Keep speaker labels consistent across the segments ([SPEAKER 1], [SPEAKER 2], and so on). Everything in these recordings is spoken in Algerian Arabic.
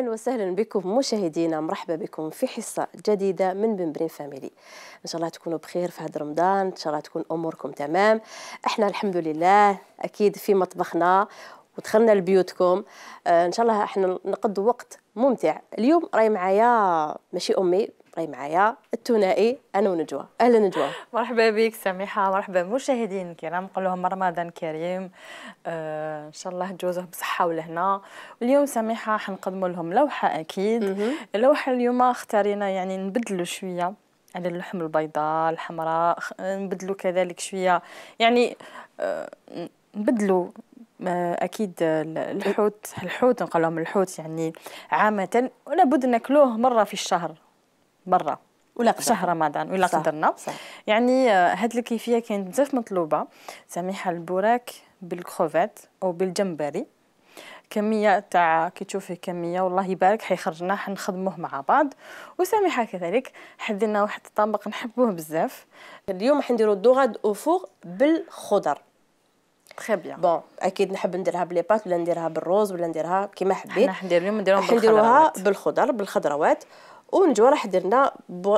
[SPEAKER 1] أهلا وسهلا بكم مشاهدينا، مرحبا بكم في حصة جديدة من بنبرين فاميلي. إن شاء الله تكونوا بخير في هذا رمضان، إن شاء الله تكون أموركم تمام. إحنا الحمد لله أكيد في مطبخنا ودخلنا لبيوتكم. إن شاء الله إحنا نقضوا وقت ممتع. اليوم راي معايا ماشي أمي، راي معايا الثنائي أنا ونجوى. أهلا نجوى.
[SPEAKER 2] مرحبا بك سميحة، مرحبا مشاهدين الكرام، نقول لهم رمضان كريم. إن شاء الله تجوزه بصحة ولهنا. اليوم سميحة حنقدموا لهم لوحة أكيد. اللوحة اليوم اختارينا يعني نبدلوا شوية على اللحم البيضاء الحمراء، نبدلوا كذلك شوية يعني نبدلوا اكيد الحوت نقول لهم الحوت يعني عامه لابد ناكلوه مره في الشهر برا
[SPEAKER 1] ولا
[SPEAKER 2] شهر رمضان ولا قدرنا. يعني هاد الكيفيه كانت بزاف مطلوبه سميحه. البوراك بالكروفات او بالجمبري، كميه تاع كي تشوفي كميه والله يبارك حيخرجنا حنخدموه مع بعض. وسميحه كذلك حدينا واحد الطبق نحبوه بزاف.
[SPEAKER 1] اليوم حنديروا الدوغاد او فوغ بالخضر.
[SPEAKER 2] تري بيان.
[SPEAKER 1] بون اكيد نحب نديرها بلي بات ولا نديرها بالروز ولا نديرها كيما حبيت.
[SPEAKER 2] حنا
[SPEAKER 1] نديروها بالخضروات. ونجوا راح درنا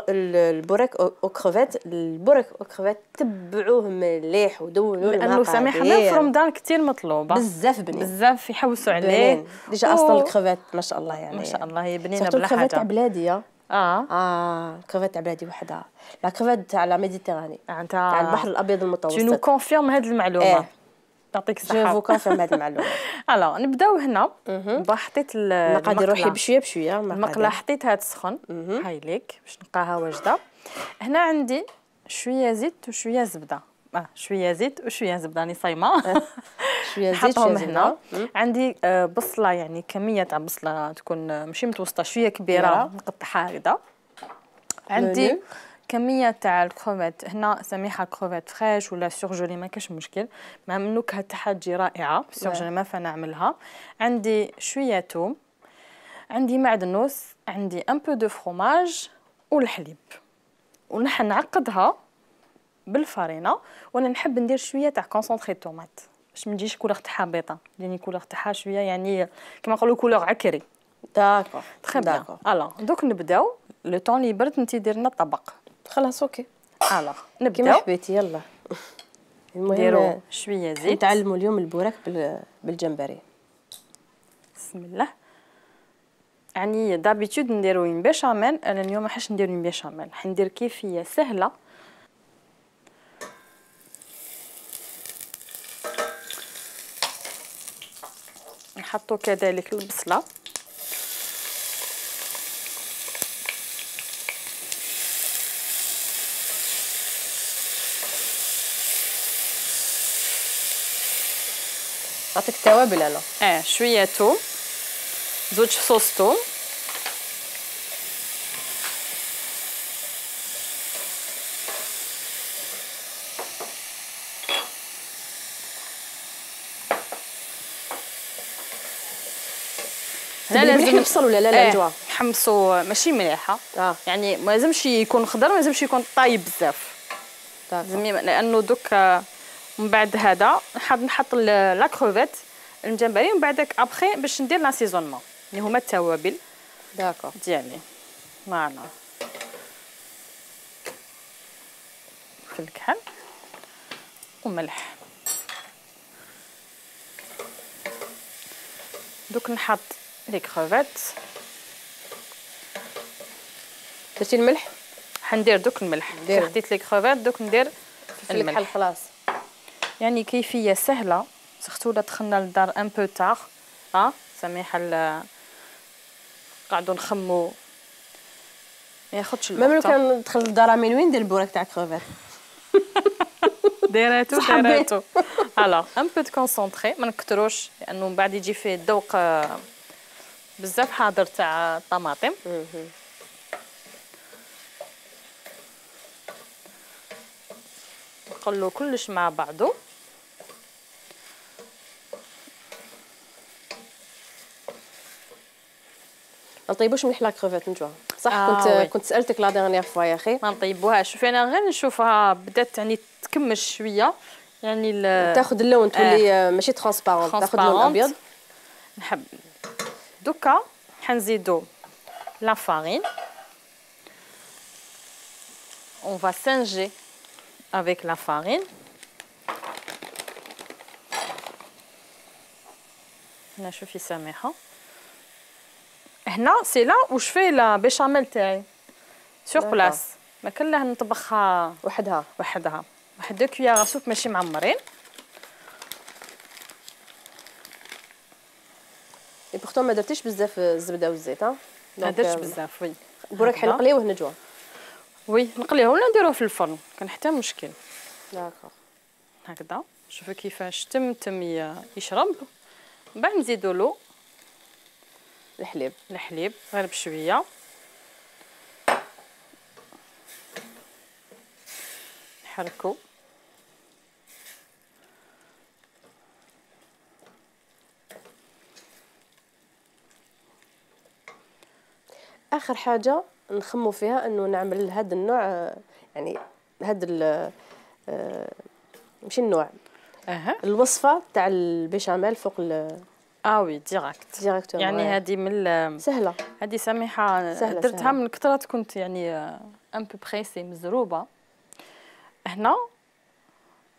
[SPEAKER 1] البوراك او كروفيت. البوراك او كروفيت تبعوه مليح ودونوا المقادير،
[SPEAKER 2] لانه سميحه في رمضان كثير مطلوبه
[SPEAKER 1] بزاف بنين،
[SPEAKER 2] بزاف يحوسوا عليه.
[SPEAKER 1] ديجا اصلا الكروفيت ما شاء الله يعني
[SPEAKER 2] ما شاء الله هي بنينه بلا حاجه.
[SPEAKER 1] الكروفيت تاع بلاديه
[SPEAKER 2] الكروفيت
[SPEAKER 1] تاع بلادي وحده، لا كروفيت تاع لا ميديتيراني
[SPEAKER 2] تاع
[SPEAKER 1] البحر الابيض المتوسط.
[SPEAKER 2] تو نو كونفيرم هذه المعلومه. يعطيك الصحه.
[SPEAKER 1] جو كونفيرم هذه المعلومه.
[SPEAKER 2] الو نبداو هنا. حطيت
[SPEAKER 1] المقادير روحي بشويه بشويه.
[SPEAKER 2] المقله حطيتها تسخن هاي ليك باش نلقاها واجده. هنا عندي شويه زيت وشويه زبده. شويه زيت وشويه زبده راني صايمه. شويه زيت شويه هنا. عندي بصله يعني كميه تاع بصله تكون ماشي متوسطه شويه كبيره نقطعها هكذا. عندي كميه تاع الكروفيت هنا سميحه كروفيت فريش ولا سورجولي ما كاش مشكل، مع النكهه تاعها تجي رائعه. سورجولي ما فنعملها. عندي شويه ثوم، عندي معدنوس، عندي ان بو دو فروماج والحليب. ونحن نعقدها بالفارينه. وانا نحب ندير شويه تاع كونسونطري طوماط باش ما تجيش كولور تاعها بيضه، لاني كولور تاعها شويه يعني كما نقولوا كولور عكري.
[SPEAKER 1] داكور
[SPEAKER 2] تري بيان. الو دوك نبداو لو طون لي برد انت دير لنا الطبق.
[SPEAKER 1] خلاص اوكي.
[SPEAKER 2] الو نبداو
[SPEAKER 1] كيما حبيتي. يلا
[SPEAKER 2] نديرو شويه زيت.
[SPEAKER 1] نتعلموا اليوم البوراك بالجمبري.
[SPEAKER 2] بسم الله. يعني دابيتود نديرو اون بيشاميل، انا اليوم ما حاش ندير اون بيشاميل، حندير كيفيه سهله. نحطو كذلك البصله.
[SPEAKER 1] نعطيك التوابل انا.
[SPEAKER 2] شويه ثوم، زوج فصوص ثوم،
[SPEAKER 1] لازم نفصل ولا لا نجوا
[SPEAKER 2] نحمصوا ماشي مليحه. يعني ما لازمش يكون خضر، ما لازمش يكون طايب بزاف. لانه دوك من بعد هذا نحط لا كروفيت الجمبري ومن بعدك ابخي باش ندير لاسيزونمون اللي هما التوابل
[SPEAKER 1] داكور
[SPEAKER 2] ديالي معنا في الكحل وملح. دوك نحط لي كروفيت.
[SPEAKER 1] درتي الملح؟
[SPEAKER 2] حندير دوك الملح. حطيت لي كروفيت دوك ندير
[SPEAKER 1] الملح خلاص.
[SPEAKER 2] يعني كيفيه سهله. سختو لا دخلنا للدار ان بو تاغ سميحه قاعدوا نخمو ما ياخذش الوقت.
[SPEAKER 1] ميم لو كان ندخل للدار من وين ندير البوراك تاع كروفيت؟
[SPEAKER 2] ديراتو الوغ ان بو كونسونطري ما نكتروش لانه من بعد يجي فيه الذوق بزاف حاضر تاع الطماطم. نقلو كلش مع بعضو.
[SPEAKER 1] ما نطيبوش مليح لا كروفيت نجوا صح. كنت سالتك لا ديرنيير فوا يا اخي.
[SPEAKER 2] ما نطيبوهاش. شوفي انا غير نشوفها بدات يعني تكمش شويه يعني
[SPEAKER 1] تاخذ اللون تولي ماشي ترانسبارون، تاخذ اللون ابيض.
[SPEAKER 2] نحب دوكا حنزيدو لا فارين. On va singer avec la farine. هنا شوفي سامحة. هنا سي لا واش في لا بيشاميل تاعي سور بلاص، ما كنلاه نطبخها
[SPEAKER 1] وحدها
[SPEAKER 2] واحد 2 كويار سوب ماشي معمرين.
[SPEAKER 1] اي بورتون ما درتيش بزاف الزبده والزيت ها،
[SPEAKER 2] ما درتش بزاف. وي
[SPEAKER 1] البوراك حنقليوه نجوه.
[SPEAKER 2] وي نقليوه ولا نديروه في الفرن، كان حتى مشكل.
[SPEAKER 1] داكوغ
[SPEAKER 2] هكذا شوفوا كيفاش تم يشرب. من بعد نزيدو له الحليب غير بشويه. نحركو
[SPEAKER 1] اخر حاجه نخمو فيها انه نعمل هذا النوع، يعني هذا ماشي النوع، الوصفه تاع البيشاميل فوق
[SPEAKER 2] وي ديراكت يعني هذه من
[SPEAKER 1] سهله.
[SPEAKER 2] هذه سميحه درتها من كثرات، كنت يعني ان بو بريسي مزروبه. هنا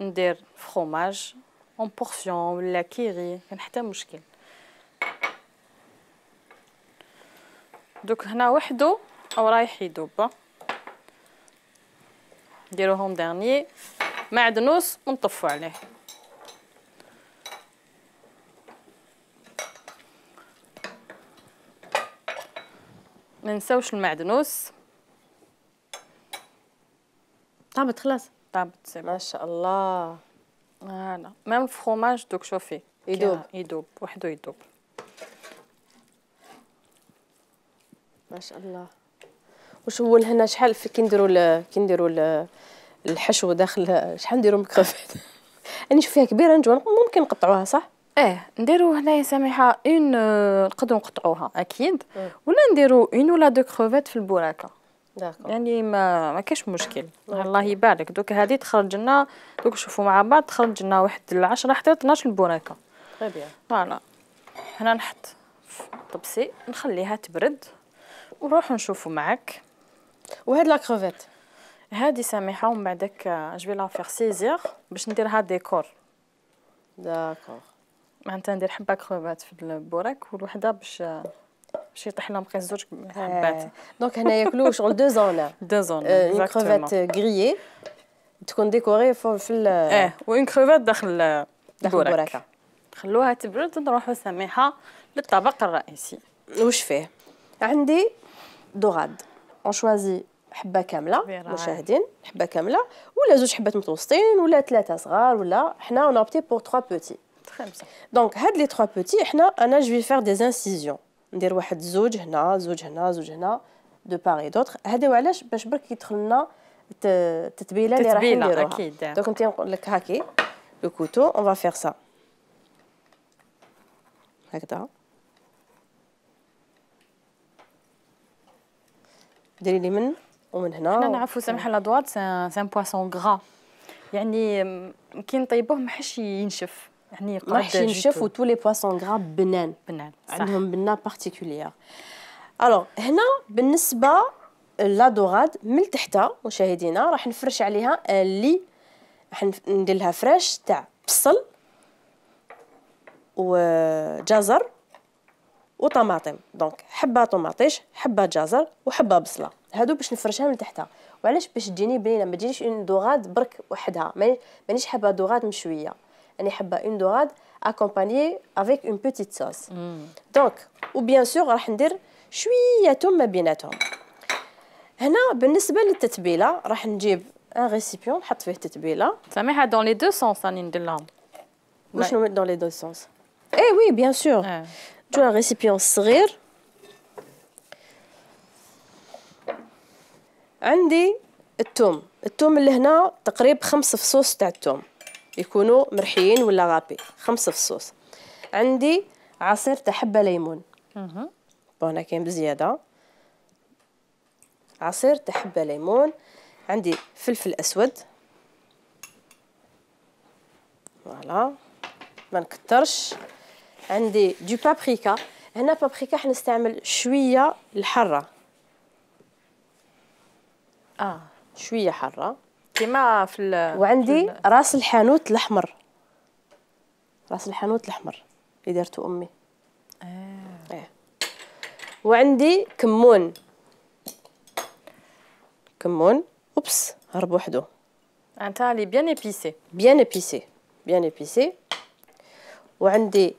[SPEAKER 2] ندير فروماج اون بورسيون ولا كيري، كان حتى مشكل. دوك هنا وحده او رايح يذوب، نديروهم ديرني معدنوس ونطفوا عليه. ما نساوش المعدنوس.
[SPEAKER 1] طابت خلاص،
[SPEAKER 2] طابت
[SPEAKER 1] ما شاء الله.
[SPEAKER 2] فوالا ميم الفرomage دوك شوفي يذوب وحده يذوب.
[SPEAKER 1] ما شاء الله. واش هو هنا شحال كي نديروا الحشو داخل شحال نديروا من كروفيت؟ راني نشوف فيها كبيره نجوى، ممكن نقطعوها صح؟
[SPEAKER 2] نديروا هنايا سميحه نقدروا نقطعوها اكيد، ولا نديروا ولا 2 كروفيت في البوراكه.
[SPEAKER 1] داكور
[SPEAKER 2] يعني ما كاش مشكل. الله يبارك. دوك هذه تخرج لنا، دوك نشوفوا مع بعض تخرج لنا واحد 10 حتى 12 البوراكه.
[SPEAKER 1] طيب بيان.
[SPEAKER 2] فوالا هنا نحط طبسي نخليها تبرد ونروحوا نشوفوا معك.
[SPEAKER 1] وهاد لا كروفيت
[SPEAKER 2] هذه سميحه ومن بعدك جو لا فيغ سيزير باش نديرها ديكور.
[SPEAKER 1] داكور
[SPEAKER 2] معناتها ندير حبه كروفات في البوراك والوحده باش يطيح لهم بقى 2 حبات.
[SPEAKER 1] دونك هنا ياكلوا شغل 2 زون.
[SPEAKER 2] 2 زون
[SPEAKER 1] اون كروفيت غريي تكون ديكوري في
[SPEAKER 2] وين كروفات داخل
[SPEAKER 1] البوراكه.
[SPEAKER 2] خلوها تبرد ونروحوا سميحه للطبق الرئيسي.
[SPEAKER 1] واش فيه؟ عندي دوغاد اون شوازي حبه كامله مشاهدين، حبه كامله ولا 2 حبات متوسطين ولا 3 صغار، ولا حنا اون اوبتي بور 3 بوتي.
[SPEAKER 2] تري بيان.
[SPEAKER 1] دونك هاد لي 3 بوتي انا جو في فير دي انسيزيون، ندير واحد زوج هنا زوج هنا زوج هنا دو باري دوطخ. هادي وعلاش؟ باش برك يدخل لنا التتبيله اللي راح نديروها
[SPEAKER 2] اكيد.
[SPEAKER 1] دونك انت نقول لك هاكي لو كوتو اون فا فير سا هكذا. ديري لي من ومن هنا.
[SPEAKER 2] حنا نعرفوا سمح لا دوات سان بواسون غرا، يعني كي نطيبوه ما حش ينشف، يعني
[SPEAKER 1] ما راحش ينشف. و تو لي بواسون غرا بنان عندهم بنه بارتيكولير. الوغ هنا بالنسبه لا دوغاد من تحت مشاهدينا راح نفرش عليها اللي راح ندير لها فريش تاع بصل وجزر وطماطم. دونك حبه طماطيش حبه جزر وحبه بصله، هادو باش نفرشها من تحتها. وعلاش؟ باش تجيني بنينه، ما تجينيش اون دوغاد برك وحدها. مانيش حابه دوغاد مشويه، راني حابه اون دوغاد اكومبانيي افيك اون بوتيت صوص. دونك وبيان سور راح ندير شويه توم ما بيناتهم. هنا بالنسبه للتتبيله راح نجيب ان ريسيبيون نحط فيه التتبيله.
[SPEAKER 2] سامحه دون لي دو سونس راني ندير لهم.
[SPEAKER 1] وشنو دون لي دو سونس؟ اي وي بيان سور. جو ان ريسيبيون صغير عندي الثوم اللي هنا تقريبا 5 فصوص تاع الثوم يكونوا مرحيين ولا غابي، 5 فصوص. عندي عصير تاع حبه ليمون هنا كاين بزياده، عصير تاع حبه ليمون. عندي فلفل اسود فوالا ما نكترش. عندي دو بابريكا. هنا بابريكا حنستعمل شويه الحاره، شويه حاره
[SPEAKER 2] كيما في
[SPEAKER 1] وعندي راس الحانوت الاحمر، راس الحانوت الاحمر اللي دارته امي. وعندي كمون، كمون اوبس هرب وحده.
[SPEAKER 2] انت لي بيان ايبيسي،
[SPEAKER 1] بيان ايبيسي، بيان ايبيسي. وعندي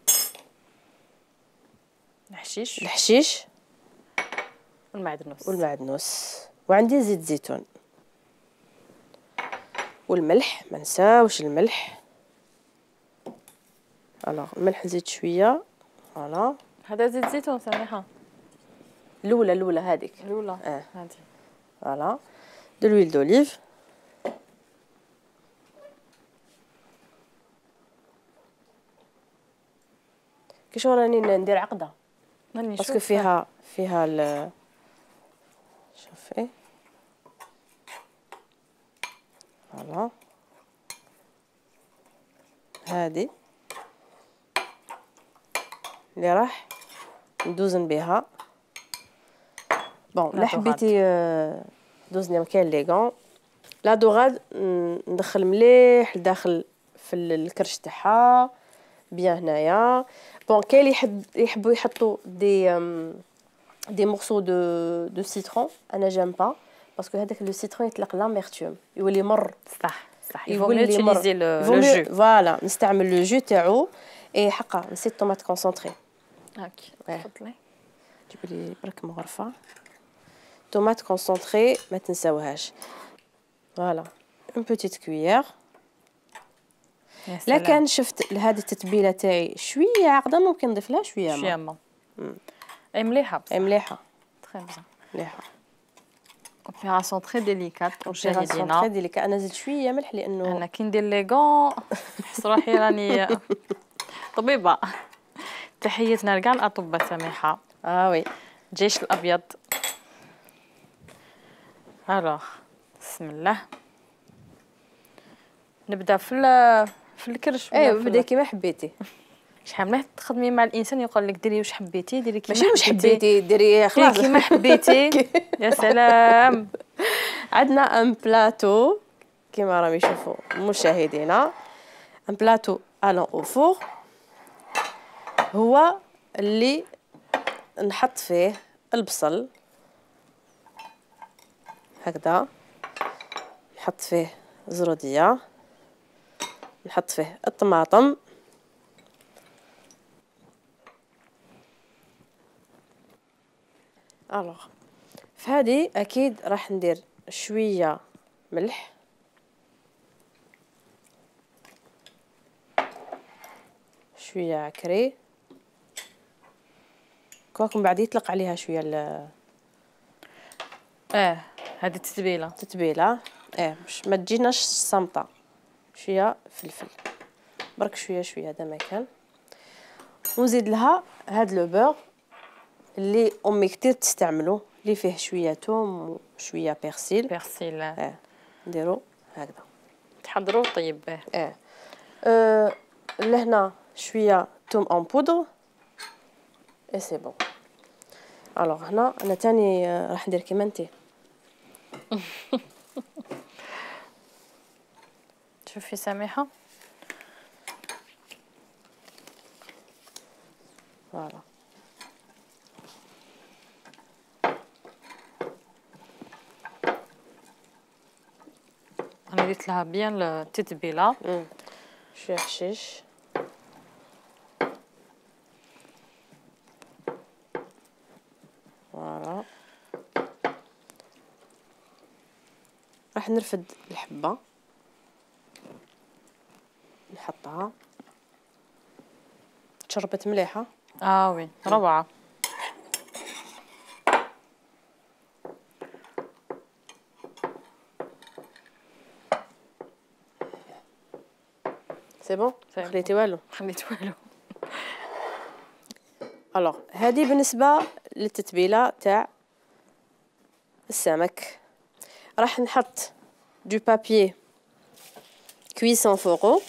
[SPEAKER 2] الحشيش،
[SPEAKER 1] الحشيش
[SPEAKER 2] والمعدنوس،
[SPEAKER 1] والمعدنوس. وعندي زيت زيتون والملح، ما نساوش الملح. الوغ الملح نزيد شويه. فوالا
[SPEAKER 2] هذا زيت زيتون سميحه
[SPEAKER 1] الاولى هذيك
[SPEAKER 2] الاولى هذه.
[SPEAKER 1] فوالا دو لويل دوليف. كي شو راني ندير عقده باسكو فيها شوفي. فوالا هادي اللي راح ندوزن بها. بون لا حبيتي دوزني كاين لي غون لا دوغاد ندخل مليح لداخل في الكرش تاعها بيان هنايا. بون كاين اللي يحبوا يحطوا دي مورسو دو سيترون، انا جيم با باسكو هذاك لو سيترون يطلق لاميرتوم يولي مر.
[SPEAKER 2] صح يفو يوتيليزي لو جو.
[SPEAKER 1] فوالا نستعمل لو جو تاعو. اي حقا نسيت طوماط كونسونطري.
[SPEAKER 2] هاكي تفضلي
[SPEAKER 1] جيبي لي برك من غرفه طوماط كونسونطري ما تنساوهاش. فوالا اون بوتيت كويير. لا كان شفت لهذه التتبيله تاعي شويه عقده ممكن نضيف لها شويه
[SPEAKER 2] ما اي مليحه بصح.
[SPEAKER 1] اي مليحه
[SPEAKER 2] تري بيان
[SPEAKER 1] مليحه.
[SPEAKER 2] اوبيراسيون تري ديليكات
[SPEAKER 1] مشاهدينا. تري ديليكات. انا زدت شويه ملح لانه
[SPEAKER 2] انا كي ندير لي غون صراحه راني طبيبه. تحياتنا لكاع الاطباء سميحه.
[SPEAKER 1] وي
[SPEAKER 2] الجيش الابيض. الوغ بسم الله نبدا في الكرش.
[SPEAKER 1] بداي كيما حبيتي.
[SPEAKER 2] شحال مليح تخدمي مع الانسان يقول لك ديري واش حبيتي، ديري كيما
[SPEAKER 1] ماشي واش حبيتي ديري خلاص
[SPEAKER 2] كيما حبيتي. يا سلام.
[SPEAKER 1] عندنا ان بلاطو كيما راهم يشوفوا مشاهدينا، ان بلاطو الون او فور هو اللي نحط فيه البصل هكذا، نحط فيه زروديه، نحط فيه الطماطم، الوغ فهادي اكيد راح ندير شويه ملح، شويه عكري، كواكم بعد يطلق عليها شويه
[SPEAKER 2] هذه
[SPEAKER 1] التتبيله باش ما تجيناش صامطه. شويه فلفل برك شويه هذا ما كان. ونزيد لها هاد لو بور اللي امي كتير تستعملو اللي فيه شويه ثوم وشويه بيرسيل. نديرو هكذا
[SPEAKER 2] تحضروا طيب به.
[SPEAKER 1] لهنا شويه ثوم اون بودر اي سي بون. الوغ هنا انا تاني راح ندير كيما انتي.
[SPEAKER 2] شوفي سميحه.
[SPEAKER 1] فوالا
[SPEAKER 2] انا درت لها بيان التتبيله.
[SPEAKER 1] شويه حشيش. فوالا راح نرفد الحبه نحطها تشربت مليحه.
[SPEAKER 2] وي روعه.
[SPEAKER 1] سي بون خليتي والو. الوغ هذه بالنسبه للتتبيله تاع السمك. راح نحط دو بابي كويسون فوقو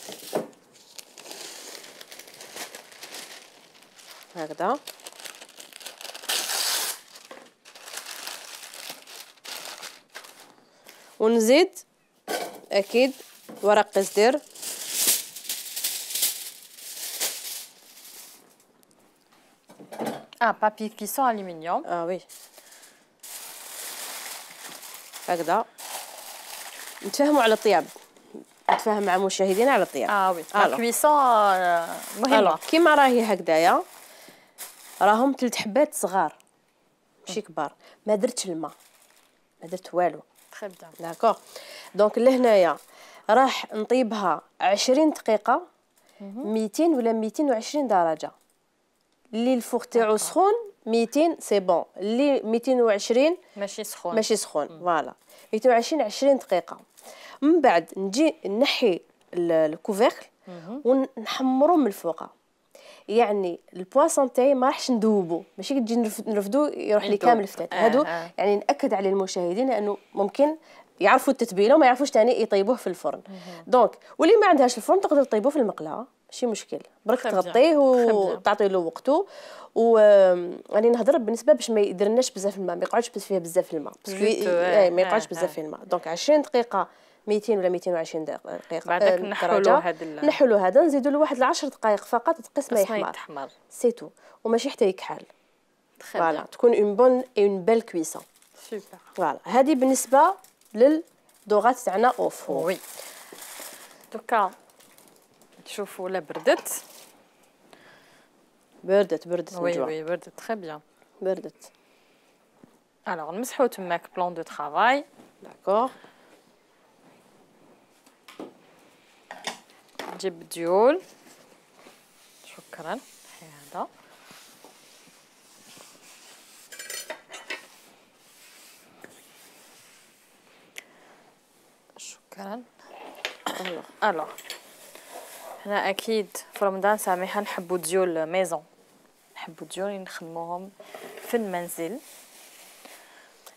[SPEAKER 1] هكذا. ونزيد اكيد ورق قزدير.
[SPEAKER 2] بابي كيسون الومنيوم.
[SPEAKER 1] وي هكذا نتفاهموا على الطياب، نتفاهم مع مشاهدينا على الطياب.
[SPEAKER 2] وي لا كويسون مهمه.
[SPEAKER 1] كيما راهي هكذايا، راهم 3 حبات صغار ماشي كبار، ما درتش الماء، ما درت والو.
[SPEAKER 2] تري بيان.
[SPEAKER 1] داكوغ. دونك لهنايا راح نطيبها 20 دقيقه 200 ولا 220 درجه. اللي الفوق تاعو سخون 200 سي بون، اللي 220
[SPEAKER 2] ماشي سخون.
[SPEAKER 1] ماشي سخون. فوالا 220 20 دقيقه. من بعد نجي نحي الكوفيركل ونحمرو من الفوق. يعني البواسون تاعي ما راحش ندوبو، ماشي كي تجي نرفدو يروح لي كامل الفتات هادو. يعني ناكد على المشاهدين لانه ممكن يعرفوا التتبيله وما يعرفوش ثاني يطيبوه في الفرن. دونك واللي ما عندهاش الفرن تقدر تطيبوه في المقله، ماشي مشكل، برك تغطيه وتعطي له وقته. راني نهضر بالنسبه باش ما يديرناش بزاف الماء، ما يقعدش فيه بزاف الماء، ما يقعدش بزاف في الماء. دونك 20 دقيقه 200 ولا 220 دقيقه.
[SPEAKER 2] بعدك نحلو
[SPEAKER 1] هذا نزيدوا له واحد 10 دقائق فقط تقيس ما يحمر. سي تو، وماشي حتى يكحل. فوالا تكون اون بيل كويسون.
[SPEAKER 2] سوبر.
[SPEAKER 1] فوالا هذه بالنسبه للدوغات تاعنا اوف.
[SPEAKER 2] وي دوكا شوفوا لا بردت.
[SPEAKER 1] بردت
[SPEAKER 2] وي وي بردت تري بيان.
[SPEAKER 1] بردت.
[SPEAKER 2] الوغ نمسحو تماك بلان دو طرافاي.
[SPEAKER 1] داكوغ.
[SPEAKER 2] نجيب الديول. شكرا. هذا شكرا. الوغ حنا اكيد في رمضان سامحه نحبوا ديول ميزون، نحبوا ديول نخدموهم في المنزل.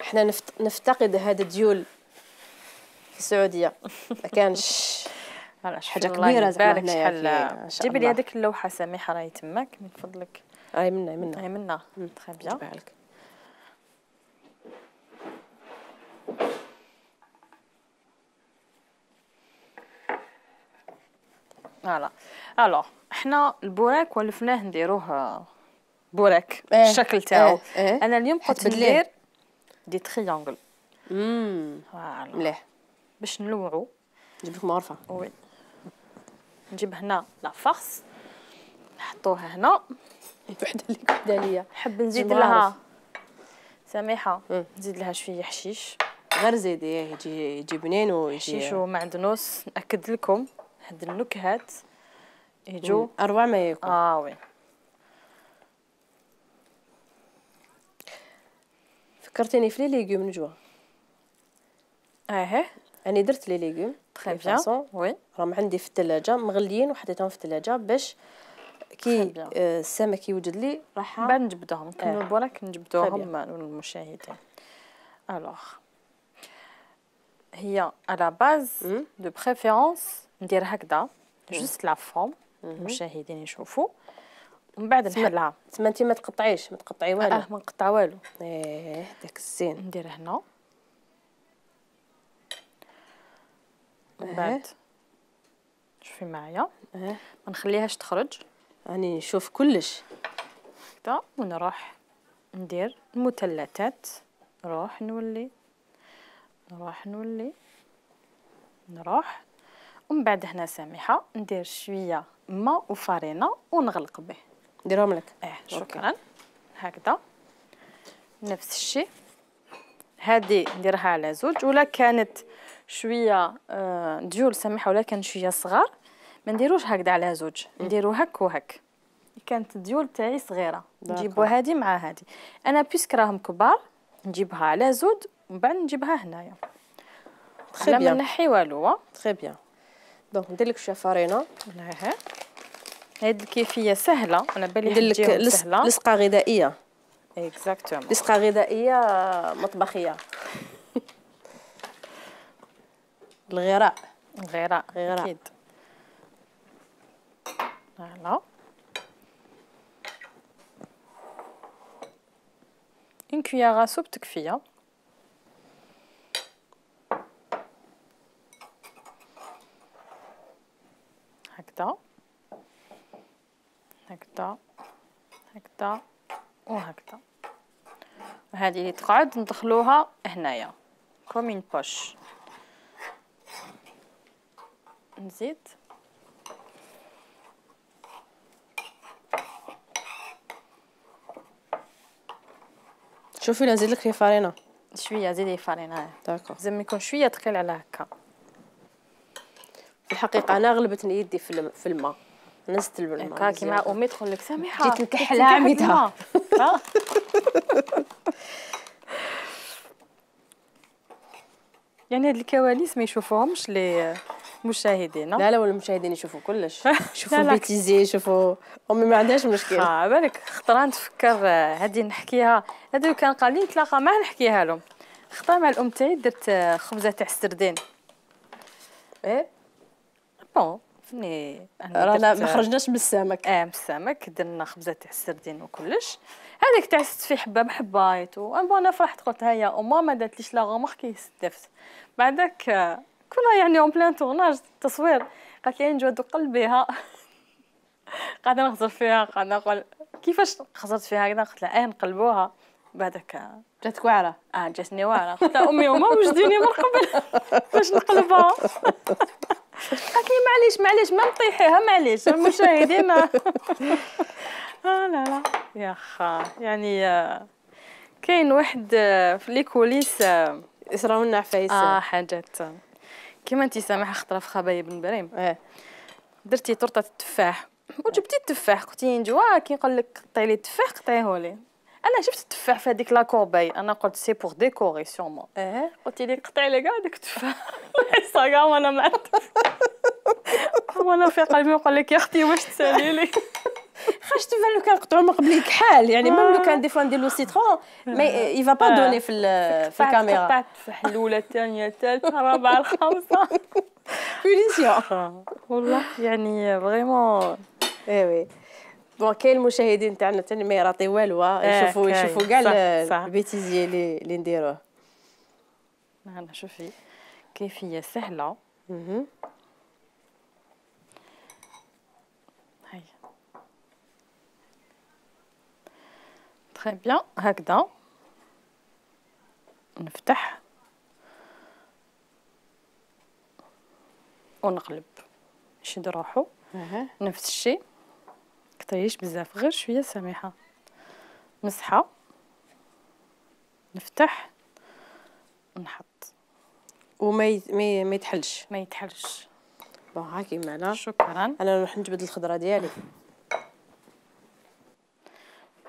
[SPEAKER 1] احنا نفتقد هذا الديول في السعوديه، ما كانش حاجه كبيره زعما هنايا.
[SPEAKER 2] جيبي لي هذيك اللوحه سامحه راهي تماك من فضلك.
[SPEAKER 1] راهي منا
[SPEAKER 2] تري بيان. فوالا. الوغ حنا البوراك ولفناه نديروه بوراك الشكل تاعو. انا اليوم قلت ندير دي تريانغل.
[SPEAKER 1] فوالا مليح
[SPEAKER 2] باش نلوعو.
[SPEAKER 1] نجيب لكم غرفه.
[SPEAKER 2] وي نجيب هنا لا فارس نحطوها هنا.
[SPEAKER 1] وحده ليا
[SPEAKER 2] نحب نزيد لها سميحه، نزيد لها شويه حشيش.
[SPEAKER 1] غير زيدي يجي بنين ويجي
[SPEAKER 2] حشيش ومعدنوس. ناكد لكم هاد النكهات يجو
[SPEAKER 1] اروع ما يكون.
[SPEAKER 2] وي
[SPEAKER 1] فكرتيني في لي ليغوم نجوى. انا درت لي ليغوم
[SPEAKER 2] تري بيان. وي
[SPEAKER 1] راهم عندي في الثلاجه مغليين وحطيتهم في الثلاجه باش كي السمك يوجد لي راح
[SPEAKER 2] بعد نجبدوهم. نكملوا البوراك نجبدوهم للمشاهدين. الوغ هي على باز دو بريفيرونس ندير هكذا جوست لا فورم المشاهدين يشوفوا، ومن بعد نحلها.
[SPEAKER 1] تما انت ما تقطعي والو.
[SPEAKER 2] ما نقطع والو.
[SPEAKER 1] داك الزين
[SPEAKER 2] ندير هنا. من بعد شوفي معايا ما نخليهاش تخرج.
[SPEAKER 1] راني نشوف كلش
[SPEAKER 2] هكذا ونروح ندير المثلثات. نروح نولي ومن بعد هنا سامحه ندير شويه ماء وفارينه ونغلق به.
[SPEAKER 1] نديرهم لك.
[SPEAKER 2] شكرا. هكذا نفس الشيء. هذه نديرها على زوج، ولا كانت شويه ديول سامحه ولا كان شويه صغار ما نديروش هكذا على زوج، نديرو هك وهك. كانت الديول تاعي صغيره نجيبوا هذه مع هذه. انا بيسك راهم كبار نجيبها على زود ومن بعد نجيبها هنايا. لا ما نحي والو.
[SPEAKER 1] تري بيان. دونك ندير لك شويه فارينه.
[SPEAKER 2] هاد الكيفيه سهله. انا بالي
[SPEAKER 1] ندير لك لصقه غذائيه.
[SPEAKER 2] اكزاكتومون.
[SPEAKER 1] لصقه غذائيه مطبخيه. الغراء
[SPEAKER 2] اكيد. فوالا اون كويير سوب تكفيه. هكذا هكذا هكذا وهكذا. وهذه اللي تقعد ندخلوها هنايا كومين بوش. نزيد
[SPEAKER 1] شوفي لا نزيد لك فيه فرينه
[SPEAKER 2] شويه، زيدي فرينه.
[SPEAKER 1] داكور.
[SPEAKER 2] لازم يكون شويه ثقيل على هكا.
[SPEAKER 1] في الحقيقه انا غلبتني يدي في الماء، نزلت الماء
[SPEAKER 2] هكا كيما امي تقول لك سامحه
[SPEAKER 1] جيت نكحلها عميتها.
[SPEAKER 2] يعني هاد الكواليس ما يشوفوهمش لي مشاهدين.
[SPEAKER 1] لا ولا المشاهدين يشوفوا كلش، يشوفوا بيتيزي، يشوفوا امي ما عندهاش مشكل.
[SPEAKER 2] بالك خطره نتفكر هادي نحكيها، هادو كان قال لي نتلاقى معاه نحكيها لهم. خطره مع الام تاعي درت خبزه تاع السردين.
[SPEAKER 1] ايه
[SPEAKER 2] بون فني
[SPEAKER 1] رانا ما خرجناش من السمك.
[SPEAKER 2] من السمك درنا خبزه تاع السردين وكلش. هذاك تعست في حبه بحبايت انا فرحت قلت هيا وما ما داتليش لا غوماركي استفدت. بعدك كنا يعني اون بلان تورناج تصوير، قالت لي نجود قلبيها قاعده نغزر فيها، قاعده نقول كيفاش خزرت فيها هكذا. قلت لها نقلبوها. بعدك
[SPEAKER 1] جاتك واعره.
[SPEAKER 2] جاتني واعره. قلت لها امي وما وجدوني من قبل باش نقلبها. قالت لي معليش ما نطيحيها، معليش المشاهدين. لا لا يا خا يعني كاين واحد في لي كوليس
[SPEAKER 1] يصراو لنا عفايس.
[SPEAKER 2] حاجات كيما انت سامحه خطره في خبايب بن بريم. درتي طرطه التفاح وجبتي التفاح، قلتي نجوا كي نقول لك قطعي لي التفاح قطعيه لي. انا شفت التفاح في هذيك لاكورباي، انا قلت سي بور ديكوري سيغمون. قلتي لي قطعي لي كاع داك التفاح. صاغا وانا مع وانا في قلبي نقول لك يا اختي واش تسالي لي.
[SPEAKER 1] خاش تفهم لو كان قطعوا من قبل كحال يعني ميم لو كان دي فوا ندير له سيترون مي يفا با دوني في الكاميرا.
[SPEAKER 2] قطعت التفاح الاولى الثانيه الثالثه الرابعه الخامسه.
[SPEAKER 1] بوليسيون
[SPEAKER 2] والله يعني فريمون.
[SPEAKER 1] وي بون كاين المشاهدين تاعنا ثاني ما يراطي والو، يشوفوا كاع البيتيزي اللي نديروه.
[SPEAKER 2] انا شوفي كيفيه سهله. هاي تري بيان. هكذا نفتح ونقلب يشد روحو. نفس الشيء كتريش بزاف، غير شويه سميحه. مسحه نفتح نحط
[SPEAKER 1] وما يتحلش.
[SPEAKER 2] ما يتحلش.
[SPEAKER 1] بون هاكي معنا.
[SPEAKER 2] شكرا.
[SPEAKER 1] انا نروح نجبد الخضره ديالي.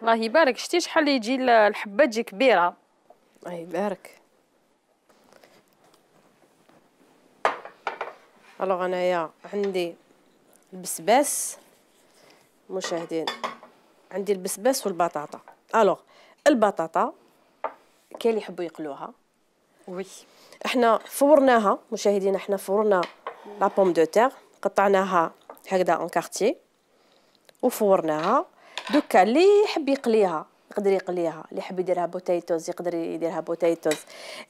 [SPEAKER 2] الله يبارك. شتي شحال يجي الحبه تجي كبيره.
[SPEAKER 1] الله يبارك. الوغ انايا عندي البسباس مشاهدين، عندي البسباس والبطاطا. الوغ البطاطا كاين اللي يحبوا يقلوها.
[SPEAKER 2] وي
[SPEAKER 1] احنا فورناها مشاهدينا، احنا فورنا لا بوم دو تير، قطعناها هكذا اون كارتي وفورناها. دوكا اللي يحب يقليها يقدر يقليها، اللي يحب يديرها بوتيتوز يقدر يديرها بوتيتوز،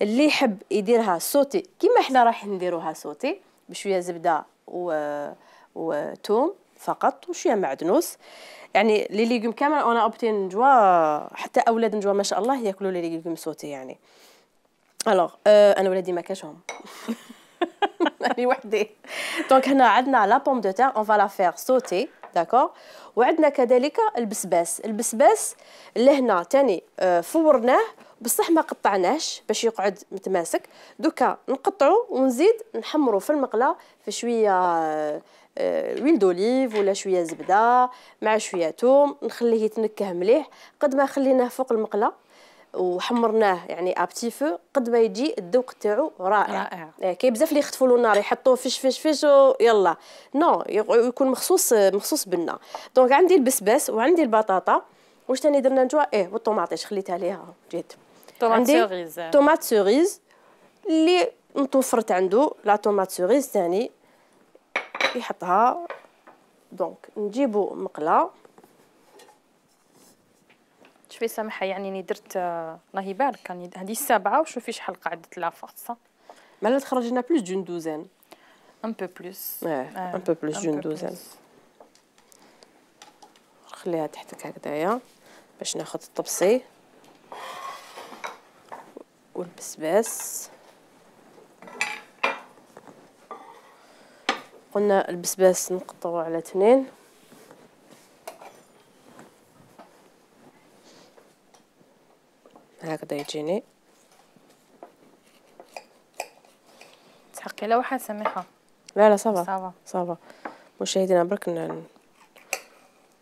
[SPEAKER 1] اللي يحب يديرها سوتي كيما احنا راح نديروها سوتي بشويه زبده وتوم فقط وشويه معدنوس. يعني لي ليغوم كامل انا اوبتي نجوا، حتى اولاد نجوا ما شاء الله ياكلوا لي ليغوم سوتي يعني. الوغ انا ولادي ما كاشهم انا وحدي. دونك هنا عندنا لا بوم دو تير اون فا لا فير سوتي داكور. وعندنا كذلك البسباس اللي هنا تاني فورناه بصح ما قطعناش باش يقعد متماسك. دوكا نقطعو ونزيد نحمرو في المقله في شويه ويل دوليف ولا شويه زبده مع شويه توم، نخليه يتنكه مليح. قد ما خليناه فوق المقله وحمرناه يعني ابتي فو قد ما يجي الذوق تاعو رائع. كاين بزاف اللي يخطفوا له النار يحطوه فش يلا نو يكون مخصوص بالنا. دونك عندي البسباس وعندي البطاطا. واش ثاني درنا نجوا والطوماطيش خليتها ليها جيت. عندي طوماط سوريز اللي متوفرت عنده لا طوماط سوريز ثاني يحطها. دونك نجيبو مقله.
[SPEAKER 2] شوفي سامحه يعني اني درت الله يبارك هذه 7 وشوفي شحال قعدت لا فرصه.
[SPEAKER 1] مالا تخرجنا بلوس دون دوزين.
[SPEAKER 2] ان بو بلوس
[SPEAKER 1] ان بو بلوس دون دوزان. خليها تحتك هكذايا باش ناخذ الطبسي والبسباس. قلنا البسباس نقطعه على 2. هكذا يجيني.
[SPEAKER 2] تحقي لا واحد سميحه.
[SPEAKER 1] لا لا صافا
[SPEAKER 2] صافا
[SPEAKER 1] صافا. مشاهدينا برك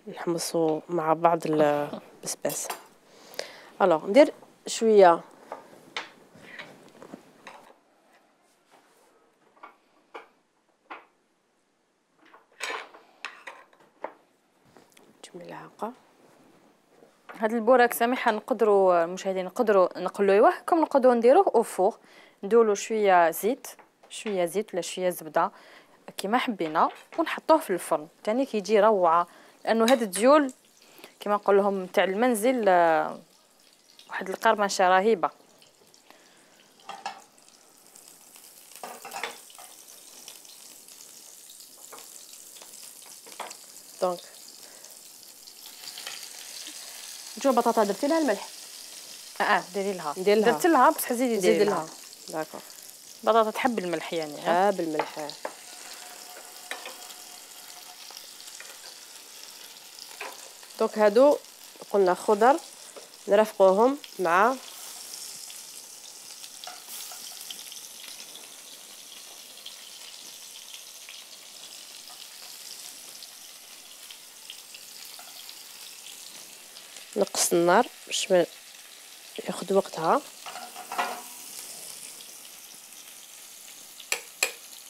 [SPEAKER 1] نحمصوا مع بعض البسباس. الوغ ندير شويه ملعقه.
[SPEAKER 2] هاد البوراك سميحه نقدروا المشاهدين نقدروا نقلوه كم نقدروا نديروه او فوغ، نديروا شويه زيت ولا شويه زبده كيما حبينا ونحطوه في الفرن ثاني كيجي روعه. لانه هاد الديول كيما نقول لهم تاع المنزل واحد القرمشه رهيبه.
[SPEAKER 1] دونك جو بطاطا درتي لها الملح؟
[SPEAKER 2] ديري لها.
[SPEAKER 1] ندير
[SPEAKER 2] درت لها بصح زيدي
[SPEAKER 1] لها. داكور.
[SPEAKER 2] بطاطا تحب الملح يعني.
[SPEAKER 1] تحب الملح. دونك هادو قلنا خضر نرافقوهم مع نقص النار باش ما ياخذ وقتها.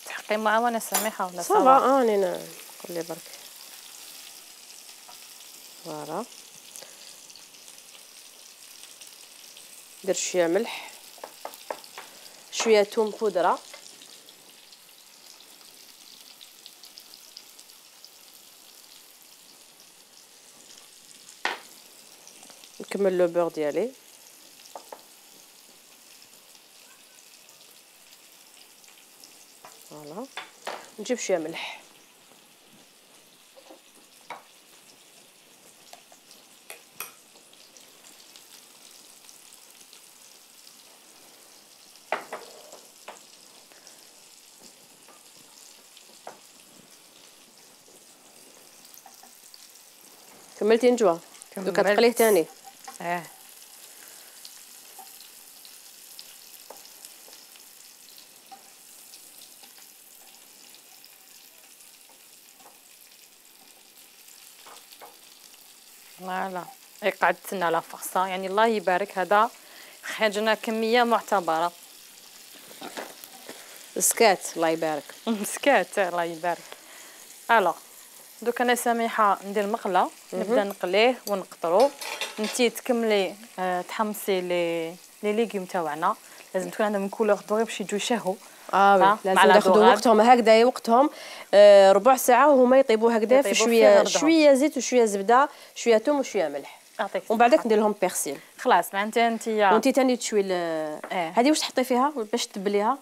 [SPEAKER 2] تحقي معاونه سميحه ولا
[SPEAKER 1] صافا؟ راني نقول لي برك. فوالا. ندير شويه ملح، شويه ثوم بودره، نكمل لو بور ديالي. فوالا. نجيب شويه ملح، كملتي نجوى؟ دوكا تقليه ثاني.
[SPEAKER 2] فوالا. قاعد تسنى على فرصه يعني الله يبارك. هذا خرجنا كميه معتبره.
[SPEAKER 1] سكات الله يبارك.
[SPEAKER 2] سكات الله يبارك. الو دوك انا سميحه ندير مقله نبدا نقليه ونقطرو. انتي تكملي تحمصي لي ليغيوم تاعنا. لازم تكون عندهم كولور دوري باش يجوا يشهوا.
[SPEAKER 1] لازم ياخذوا وقتهم هكذا وقتهم ربع ساعه وهما يطيبوا هكذا في شويه زيت وشويه زبده شويه ثوم وشويه ملح. ومن بعدك ندير لهم بيرسيل.
[SPEAKER 2] خلاص معناتها انتيا
[SPEAKER 1] وانتي ثاني تشوي هذه واش تحطي فيها باش تبليها؟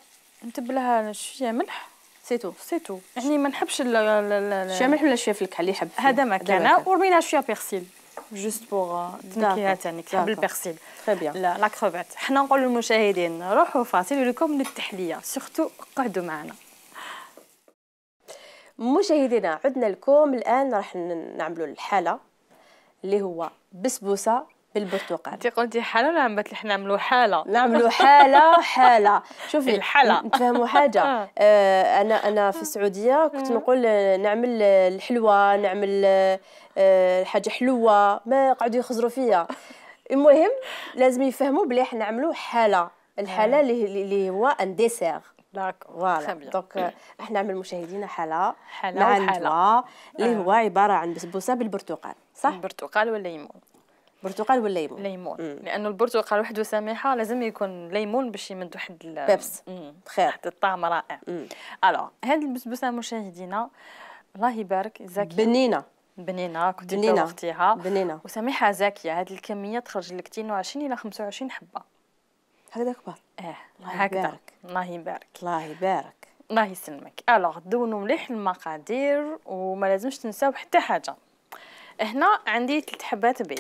[SPEAKER 2] نتبلها شويه ملح
[SPEAKER 1] سيتو
[SPEAKER 2] يعني ما نحبش
[SPEAKER 1] شويه ملح ولا شويه فلك اللي يحب.
[SPEAKER 2] هذا ما كان ورمينا شويه بيرسيل جوست بوغ تنكيها ثاني تحب البيرسيل.
[SPEAKER 1] تري بيان.
[SPEAKER 2] لا كروفيت. حنا نقول للمشاهدين روحوا فاصل لكم للتحليه سورتو قعدوا معنا.
[SPEAKER 1] مشاهدينا عدنا لكم الان راح نعملوا الحاله اللي هو بسبوسه بالبرتقال.
[SPEAKER 2] انت قلتي حاله ولا عم بتلح نعملوا حاله؟
[SPEAKER 1] نعملوا حاله. شوفي
[SPEAKER 2] الحاله
[SPEAKER 1] نتفهموا حاجه. انا في السعوديه كنت نقول نعمل الحلوه، نعمل حاجه حلوه، ما قعدوا يخزروا فيا. المهم لازم يفهموا بلي احنا نعملوا حاله. الحاله اللي هو ان ديسير. فوالا. دونك احنا نعمل مشاهدينا حاله مع الندوه اللي هو عباره عن بسبوسه بالبرتقال. صح؟
[SPEAKER 2] البرتقال والليمون.
[SPEAKER 1] برتقال ولا ليمون؟
[SPEAKER 2] ليمون. لانه البرتقال وحده سميحه لازم يكون ليمون باش يمد واحد
[SPEAKER 1] بيبس. خير.
[SPEAKER 2] واحد الطعم رائع. الو هذه البسبوسه مشاهدينا الله يبارك زاكيه بنينه كنت توختيها
[SPEAKER 1] بنينه
[SPEAKER 2] وسميحه زاكيه. هذه الكميه تخرج لك 22 الى 25 حبه
[SPEAKER 1] هكذا كبار.
[SPEAKER 2] هكذا. الله يبارك
[SPEAKER 1] الله يبارك.
[SPEAKER 2] الله يسلمك. الوغ دونوا مليح المقادير وما لازمش تنساو حتى حاجه. هنا عندي 3 حبات بيض،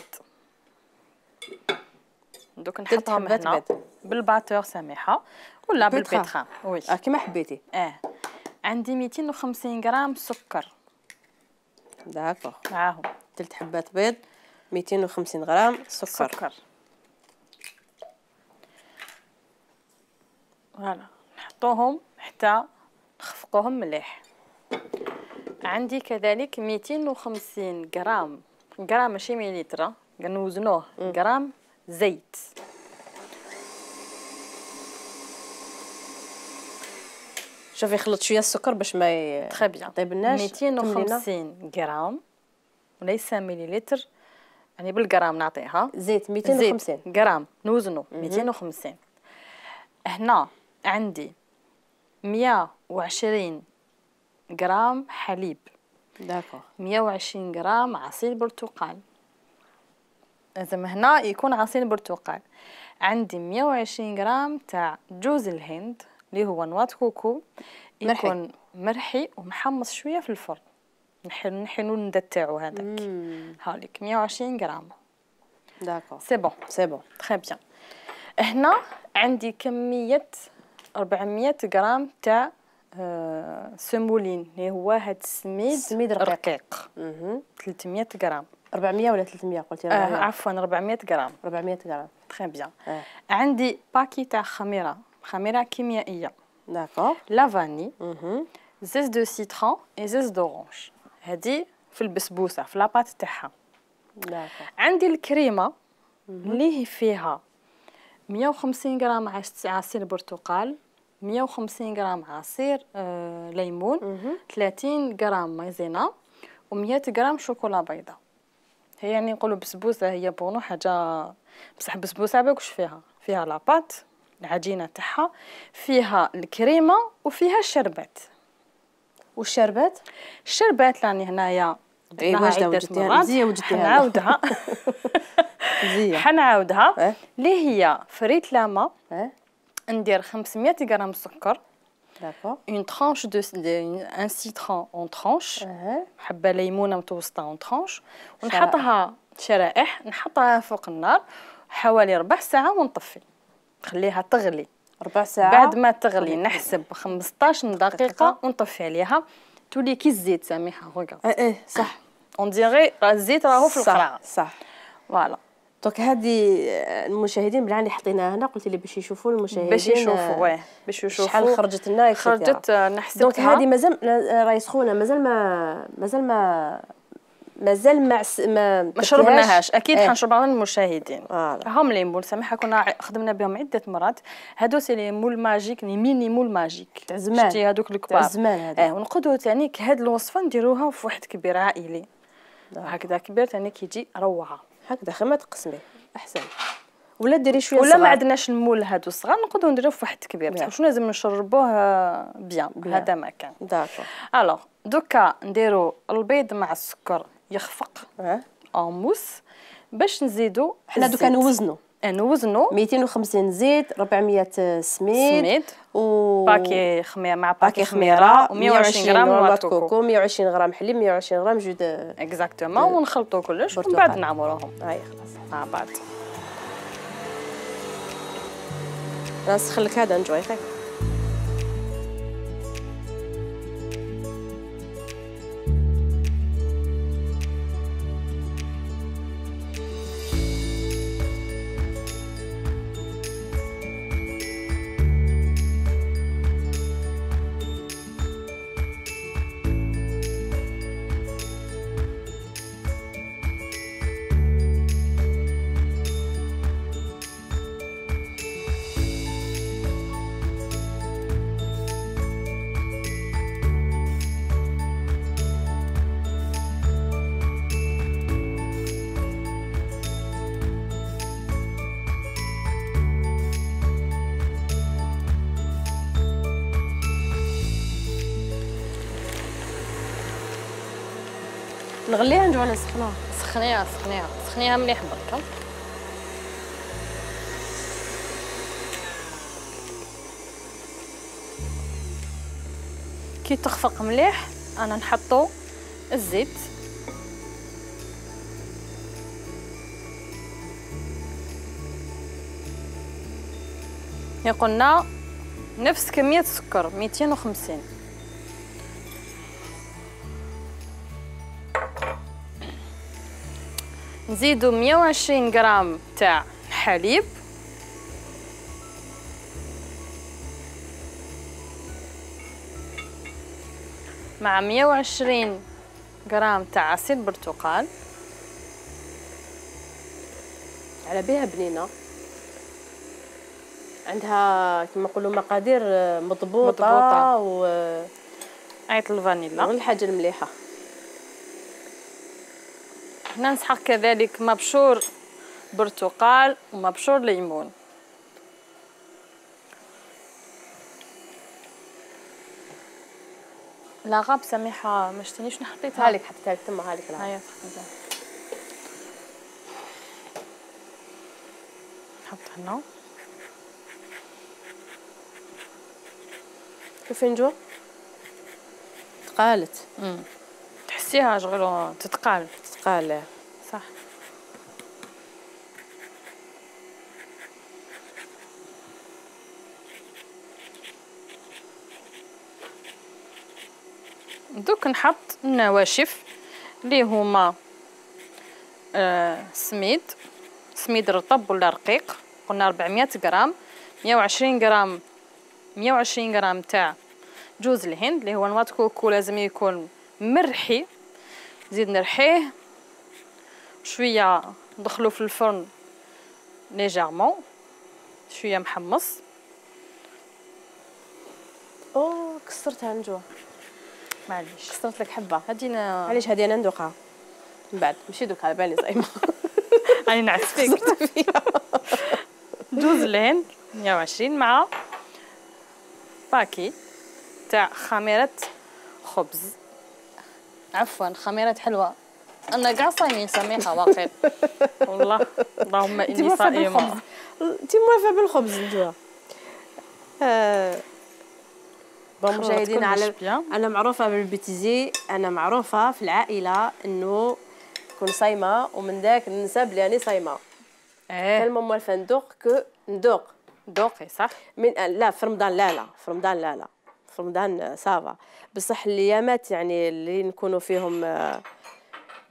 [SPEAKER 2] دوك نحطهم هنا بالباتور سميحه ولا بالبيتران. وي
[SPEAKER 1] كيما حبيتي.
[SPEAKER 2] عندي 250 غرام سكر.
[SPEAKER 1] داكوغ.
[SPEAKER 2] معاهم
[SPEAKER 1] 3 حبات بيض، 250 غرام سكر.
[SPEAKER 2] فوالا نحطوهم حتى نخفقوهم مليح. عندي كذلك 250 غرام ماشي مليلتر، كنوزنوه غرام زيت.
[SPEAKER 1] شوفي خلط شويه السكر باش ما يطيبلناش.
[SPEAKER 2] 250 غرام وليس مليلتر، يعني بالغرام نعطيها.
[SPEAKER 1] زيت 250
[SPEAKER 2] غرام نوزنو 250. هنا عندي 120 غرام حليب.
[SPEAKER 1] داكوغ.
[SPEAKER 2] 120 غرام عصير برتقال، لازم هنا يكون عصير برتقال. عندي 120 غرام تاع جوز الهند اللي هو نواة كوكو، يكون مرحي ومحمص شويه في الفرن. نحنو الندى تاعو هذاك. هاوليك 120 غرام.
[SPEAKER 1] داكوغ.
[SPEAKER 2] سي بون تري بيان. هنا عندي كميه 400 غرام تاع سمولين اللي هو هاد السميد رقيق. 300 غرام. 400
[SPEAKER 1] ولا 300 قلتي؟ 400.
[SPEAKER 2] عفوا 400 غرام.
[SPEAKER 1] 400 غرام.
[SPEAKER 2] تري بيان. عندي باكي تاع خميره كيميائيه.
[SPEAKER 1] داكوغ.
[SPEAKER 2] لافاني، زيت دو سيترون اي زيت دورانج. هذه في البسبوسه في لاباط تاعها.
[SPEAKER 1] داكوغ.
[SPEAKER 2] عندي الكريمه اللي هي فيها 150 غرام عصير برتقال، 150 غرام عصير ليمون، 30 غرام مايزينا، و100 غرام شوكولا بيضاء. هي يعني نقولوا بسبوسه، هي بونو حاجه بصح بسبوسه باكش فيها لاباط العجينه تاعها، فيها الكريمه وفيها الشربات.
[SPEAKER 1] والشربات
[SPEAKER 2] راني هنايا
[SPEAKER 1] درناها عدة مرات.
[SPEAKER 2] حنعاودها حنعاودها اللي هي فريت لاما. ندير 500 غرام سكر.
[SPEAKER 1] داكوغ.
[SPEAKER 2] اون ترانش دو ان سيترون اون ترانش، حبه ليمونه متوسطه اون ترانش، ونحطها شرائح، نحطها فوق النار حوالي ربع ساعه ونطفي، نخليها تغلي
[SPEAKER 1] ربع ساعه.
[SPEAKER 2] بعد ما تغلي نحسب 15 دقيقه ونطفي عليها، تولي كي الزيت سامحه.
[SPEAKER 1] ريغارد. صح،
[SPEAKER 2] اون ديغي الزيت راهو في القرعه.
[SPEAKER 1] صح.
[SPEAKER 2] فوالا.
[SPEAKER 1] دونك هذه المشاهدين بلا اللي حطيناها هنا، قلتي لي باش يشوفوا المشاهدين
[SPEAKER 2] باش يشوفوا
[SPEAKER 1] شحال خرجت لنا.
[SPEAKER 2] خرجت نحسب.
[SPEAKER 1] دونك هذه مازال راهي سخونه، مازال ما
[SPEAKER 2] شربناهاش. اكيد حنشربها للمشاهدين. هم لي مول سامحه كنا خدمنا بهم عده مرات. هادو سي لي مول ماجيك، لي ميني مول ماجيك
[SPEAKER 1] تاع زمان.
[SPEAKER 2] شتي هذوك الكبار
[SPEAKER 1] تاع زمان هذا.
[SPEAKER 2] ونقدروا ثاني هاد الوصفه نديروها في واحد كبير عائلي هكذا كبير ثاني كيجي روعه
[SPEAKER 1] هكذا. خير ما تقسمي احسن، ولا ديري شويه
[SPEAKER 2] ولا ما عندناش المول هادو الصغار نقدروا نديروه في واحد كبير، بصح واش لازم نشربوه بيان. هذا ما كان.
[SPEAKER 1] داكور.
[SPEAKER 2] الوغ دوكا نديروا البيض مع السكر يخفق اون موس باش نزيدو.
[SPEAKER 1] حنا دوكا
[SPEAKER 2] نوزنو
[SPEAKER 1] 250 زيت، 400 سميد
[SPEAKER 2] و باكي خميره مع باكي خميره و120 غرام نواة كوكو،
[SPEAKER 1] 120 غرام حليب، 120 غرام جود
[SPEAKER 2] اكزاكتومون، ونخلطوا كلش ومن بعد نعمروهم.
[SPEAKER 1] هاي خلاص
[SPEAKER 2] مع بعض.
[SPEAKER 1] نسخن لك هذا نجوي خير. نغليها نجي ولا نسخنوها؟
[SPEAKER 2] سخنيها مليح برك. كي تخفق مليح انا نحطو الزيت. قلنا نفس كمية السكر 250. نزيدو 120 غرام تاع حليب، مع 120 غرام تاع عصير برتقال.
[SPEAKER 1] على بها بنينه، عندها كما نقولوا مقادير مضبوطه و
[SPEAKER 2] عيط الفانيلا
[SPEAKER 1] والحاجه المليحه.
[SPEAKER 2] هنا نسحق كذلك مبشور برتقال ومبشور ليمون. لا غاب سميحه ما شتينيش نحطيتها.
[SPEAKER 1] هالك حطيتها لك تما، هالك لا
[SPEAKER 2] هيا حطيتها. نحط هنا.
[SPEAKER 1] شوفي نجوى تقالت.
[SPEAKER 2] تحسيها شغل تتقال.
[SPEAKER 1] تقال
[SPEAKER 2] صح. دوك نحط النواشف اللي هما سميد رطب ولا رقيق، قلنا 400 غرام، 120 غرام تاع جوز الهند اللي هو نواه كوكو، لازم يكون مرحي. نزيد نرحيه شويه، ندخلو في الفرن ليجيرمون شويه محمص.
[SPEAKER 1] كسرتها نجوى،
[SPEAKER 2] معليش
[SPEAKER 1] كسرت لك حبه.
[SPEAKER 2] هادينا
[SPEAKER 1] معليش هذه انا ندوقها من بعد، ماشي دوك على بالي صايمه.
[SPEAKER 2] راني نعس فيك. جوز الهند 120 مع باكي تاع خميره خبز، عفوا خميره حلوه. انا كاع صايمين سميحه واقيلا والله، اللهم اني صائمه.
[SPEAKER 1] انت موافقه بالخبز نجوى. بون مشاهدينا، على انا معروفه بالبيتيزي، انا معروفه في العائله انه كون صايمه ومن ذاك ننسى بلي راني صايمه. تالمو موالفه ندوق
[SPEAKER 2] دوقي صح.
[SPEAKER 1] من لا في رمضان، لا في رمضان لا في رمضان سافا، بصح الايامات يعني اللي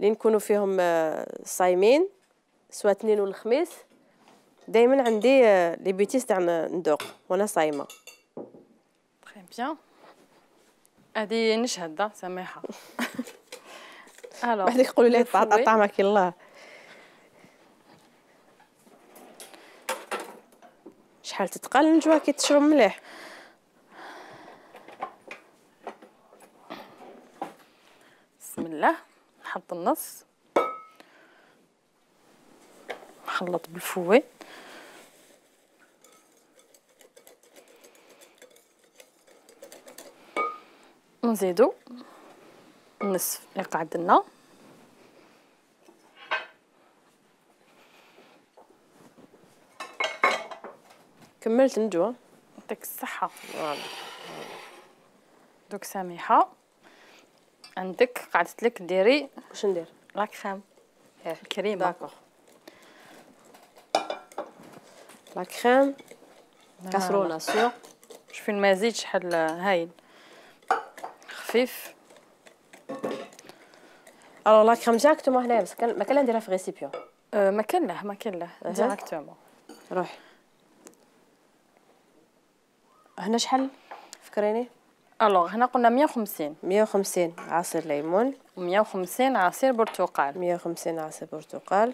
[SPEAKER 1] نكونوا فيهم صايمين، سواء اثنين ولا الخميس، دائما عندي لي بيتيس تاع ندوق وانا صايمه.
[SPEAKER 2] تري بيان. هادي نشهد سماحه.
[SPEAKER 1] بعد يقولوا لي طعمك الله. شحال تتقال نجوى كي تشرب مليح.
[SPEAKER 2] بسم الله. نحط النص، نخلط بالفوي، ونزيدو النصف يقعد لنا.
[SPEAKER 1] كملت نجوى،
[SPEAKER 2] يعطيك الصحة. دوك سميحة عندك قعدت لك ديري
[SPEAKER 1] واش ندير؟
[SPEAKER 2] لا كريم الكريمة.
[SPEAKER 1] داكوغ، لا كريم كاسرونه سيغ.
[SPEAKER 2] شوفي المزيج شحال هايل خفيف.
[SPEAKER 1] الوغ لا كريم ديريكتومون هنايا، بس ما كان نديرها في ريسيبيون.
[SPEAKER 2] ما كان له ديريكتومون.
[SPEAKER 1] روحي هنا شحال فكريني؟
[SPEAKER 2] الوغ هنا قلنا
[SPEAKER 1] 150 عصير ليمون،
[SPEAKER 2] و150 عصير برتقال.
[SPEAKER 1] 150 عصير برتقال.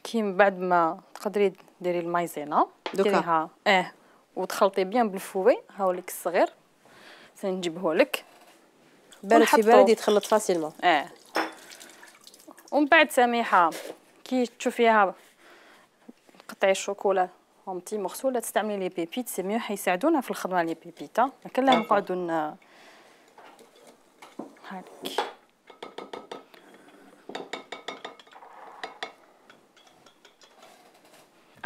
[SPEAKER 2] كي من بعد ما تقدري ديري المايزينا ديريها وتخلطي بيان بالفوي. هاوليك الصغير سنجيبه لك
[SPEAKER 1] بارد في بارد يتخلط فاسيلمون.
[SPEAKER 2] ومن بعد سميحه كي تشوفيها قطعي الشوكولا اونتي مغسوله، تستعملي لي بيبيت سي ميو، حيساعدونا في الخدمه لي بيبيتا. ما كان لا نقعدوا هاك.